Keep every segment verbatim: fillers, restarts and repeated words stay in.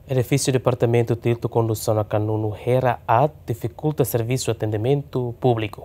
Edifísiu Departamentu Títulu Kondusaun Akanunu Hera Aat difikulta servisu atendimentu públiku.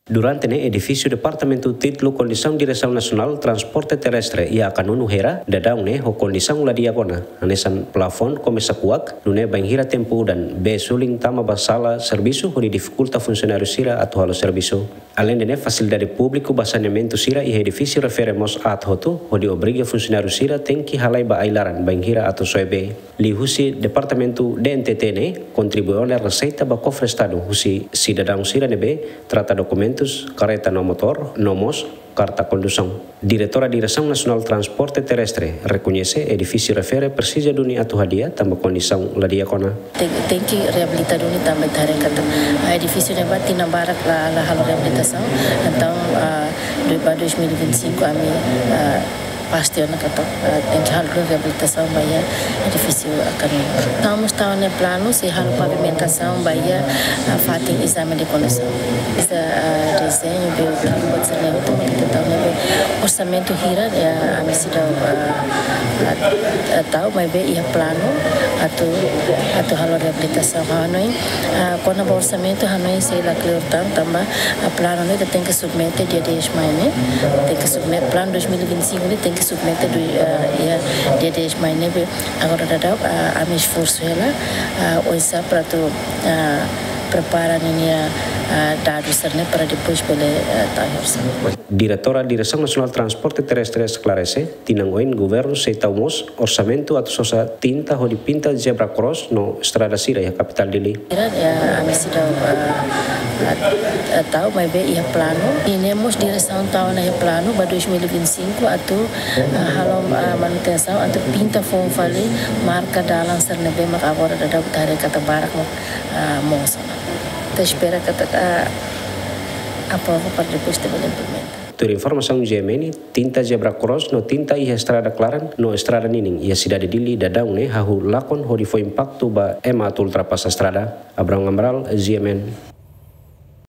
Durante ne'e, edifísiu Departamentu Títulu Kondusaun Diresaun Nasionál Transporte Terrestre iha Akanunu Hera, daudaun ne'e ho kondisaun la di'ak ona, hanesan plafon komesa kuak, nune'e bainhira tempu udan, bee sulin tama ba sala servisu hodi difikulta funsionáriu sira atu halo servisu. Aleinde ne'e, fasilidade públiku ba saneamentu sira iha edifísiu refere mós aat hotu, hodi obriga funsionáriu sira tenke halai ba ai-laran bainhira atu soe bee. Liuhusi Departamentu D N T T ne'e kontribui ona reseita ba kofre Estadu husi sidadaun sira ne'ebé trata dokumentus karreta no motór, no mós karta kondusaun. Diretora Diresaun Nasionál Transporte Terrestre rekoñese edifísiu refere presiza duni atu hadi'a tanba kondisaun la di'ak ona. Ten, tenke reabilita duni tanba ita haree katak, ah, edifísiu ne'ebá tinan barak la, la halo reabilitasaun. Entaun, ah, do, ba dois mil e vinte e cinco ami, ah, pasti ona katak, ah, tenke halo reabilitasaun ba iha edifísiu Akanunu. Entaun mós tau ona planu sei halo pavimentasaun ba iha, ah, fatin ezame de kondusaun. Iha, ah, dezeñu, be, buat sira-ne'e hotu mak ita tau ne'ebé orsamentu hira, ya, ami seidauk, ah, ah, ah, tau, maibé iha planu atu, atu halo reabilitasaun. Ha'u hanoin, ah, kona-ba orsamentu hanoin sei la kleur tan, tanba, ah, planu ne'e ita tenke submete dia dez Mai ne'e, tenke submete, planu dois mil e vinte e cinco ne'e tenke submete do, ah, iha dia dez Mai ne'ebé. Agora daudaun, ah, ami esforsu hela, ah, oinsá para atu, ah, prepara ninia, ah, dadus sira-ne'e para depois bele, ah, tau iha orsamentu. Diretora Diresaun Nasionál Transporte Terrestre esklarese, tinan oin governu sei tau mós orsamentu atu sosa tinta hodi pinta zebra cross no estrada sira iha kapitál Dili. Ira, ya, ami seidauk, ah, ah, ah, tau, maibé iha planu. Ida-ne'e mós diresaun tau ona iha planu ba dois mil e vinte e cinco atu, ah, halo, ah, manutensaun atu pinta foun fali marka dalan sira-ne'ebé mak agora daudaun ita haree katak barak mak, ah, moos ona. Ita espera katak, ah, aprova para depois ita bele implementa. Tuir informasaun G M N, tinta zebra cross no tinta iha estrada klaran no estrada ninin iha sidade Dili daudaun ne'e hahú lakon hodi fó impaktu ba ema atu ultrapasa estrada. Abraham Amaral, G M N.